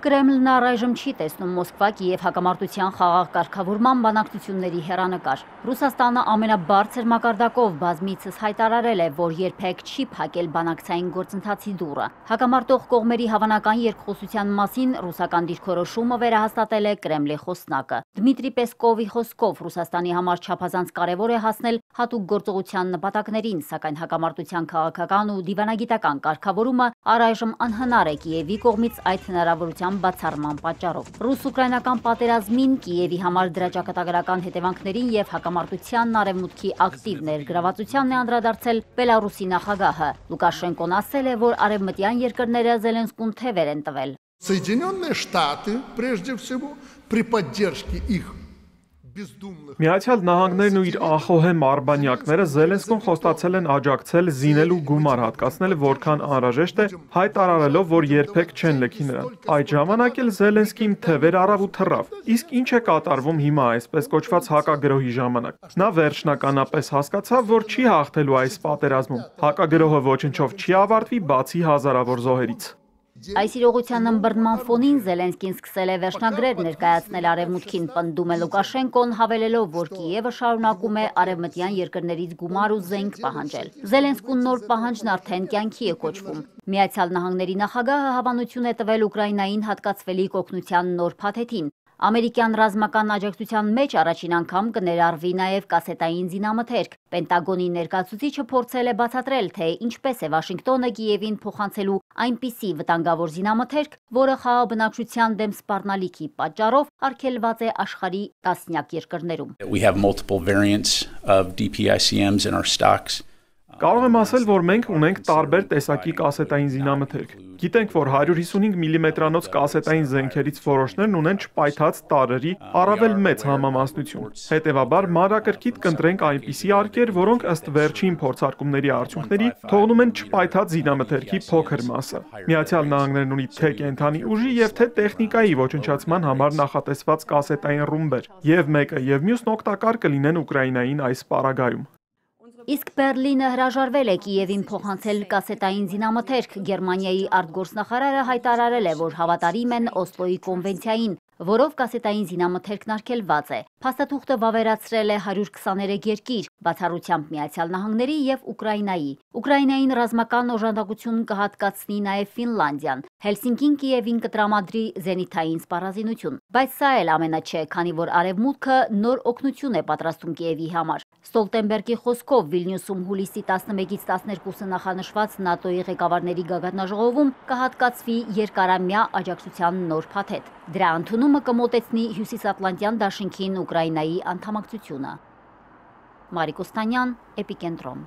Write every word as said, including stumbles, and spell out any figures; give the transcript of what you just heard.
Կրեմլն առայժմ չի տեսնում Մոսկվա-Կիև հակամարտության խաղաղ կարգավորման բանակցությունների հեռանկար։ Ռուսաստանը ամենաբարձր մակարդակով բազմիցս հայտարարել է, որ երբեք չի փակել բանակցային գործընթացի դուռը։ Հակամարտող կողմերի հավանական երկխոսության մասին ռուսական դիրքորոշումը վերահաստատել է Կրեմլի խոսնակը։ Դմիտրի Պեսկովի խոսքով Ռուսաստանի համար չափազանց կարևոր է հասնել հատուկ գործողության նպատակներին, սակայն հակամարտության քաղաքական ու դիվանագիտական կարգավորումը առայժմ անհնար է Կիևի կողմից այդ հնարավորության բացառման պատճառով։ Ռուս-ուկրաինական պատերազմին, Կիևի համար դրա ճակատագրական հետևանքներին եւ հակամարտությանն արևմուտքի ակտիվ ներգրավվածությանն է անդրադարձել Բելարուսի նախագահը։ Լուկաշենկոն ասել է, որ արևմտյան երկրները Զելենսկուն թևեր են տվել։ Соединенные Штаты, прежде всего, при поддержке их Միացյալ Նահանգներն ու իր անխոհեմ արբանյակները Զելենսկուն խոստացել են աջակցել զինել ու գումար հատկացնել որքան անհրաժեշտ է, հայտարարելով, որ երբեք չեն լքի նրան։ Այդ ժամանակ էլ Զելենսկին թևեր առավ ու թռավ։ Իսկ ինչ է կատարվում հիմա այսպես կոչված հակագրոհի ժամանակ։ Նա վերջնականապես հասկացավ, որ չի հաղթելու այս պատերազմում։ Հակագրոհը ոչնչով չի ավարտվի, բացի հազարավոր զոհերից։ Այս իրողության ըմբռնման ֆոնին Զելենսկին սկսել է վերջնագրեր ներկայացնել արևմուտքին, պնդում է Լուկաշենկոն, հավելելով, որ Կիևը շարունակում է արևմտյան երկրներից գումար ու զենք պահանջել։ Զելենսկուն նոր պահանջն արդեն կյանքի է կոչվում։ Միացյալ Նահանգների նախագահը հավանություն է տվել Ուկրաինային հատկացվելիք օգնության նոր փաթեթին։ Ամերիկյան ռազմական աջակցության մեջ առաջին անգամ կներառվի նաև կասետային զինամթերք։ Պենտագոնի ներկայացուցիչը փորձել է բացատրել, թե ինչպես է Վաշինգտոնը Կիևին փոխանցելու այնպիսի վտանգավոր զինամթերք, որը խաղաբնակչության դեմ սպառնալիքի պատճառով արգելված է աշխարհի տասնյակ երկրներում։ We have multiple variants of D P I C Ms in our stocks. Կարող եմ ասել, որ մենք ունենք տարբեր տեսակի կասետային զինամթերք։ Գիտենք, որ հարյուր հիսունհինգ միլիմետրանոց կասետային զենքերից որոշներն ունեն չպայթած տարրերի առավել մեծ համամասնություն։ Հետևաբար, մանրակրկիտ կընտրենք այնպիսի արկեր, որոնք ըստ վերջին փորձարկումների արդյունքների թողնում են չպայթած զինամթերքի փոքր մասը։ Միացյալ Նահանգներն ունի թե կենդանի ուժի եւ թե տեխնիկայի ոչնչացման համար նախատեսված կասետային ռումբեր, եւ մեկը եւ մյուսն օգտակար կլինեն Ուկրաինային այս պարագայում։ Իսկ Բերլինը հրաժարվել է Կիևին փոխանցել կասետային զինամթերք։ Գերմանիայի արտգործնախարարը հայտարարել է, որ հավատարիմ են Օսլոյի կոնվենցիային, որով կասետային զինամթերքն արգելված է։ Փաստաթուղթը վավերացրել է հարյուր քսաներեք երկիր, բացառությամբ Միացյալ Նահանգների եւ Ուկրաինայի։ Ուկրաինային ռազմական օժանդակություն կհատկացնի նաև Ֆինլանդիան։ Հելսինկին Կիևին կտրամադրի զենիթային սպառազինություն։ Բայց սա էլ ամենը չէ, քանի որ Արևմուտքը նոր օգնություն է պատրաստում Կիևի համար։ Ստոլտենբերգի խոսքով Վիլնյուսում հուլիսի տասնմեկից տասներկուսը նախանշված ՆԱՏՕ-ի ղեկավարների գագաթնաժողովում կհատկացվի երկարամյա աջակցության նոր փաթեթ։ Դրա ընդունումը կմոտեցնի Հյուսիսատլանտյան դաշինքին Ուկրաինայի անդամակցությունը։ Մարիկ Օստանյան, Էպիկենտրոն։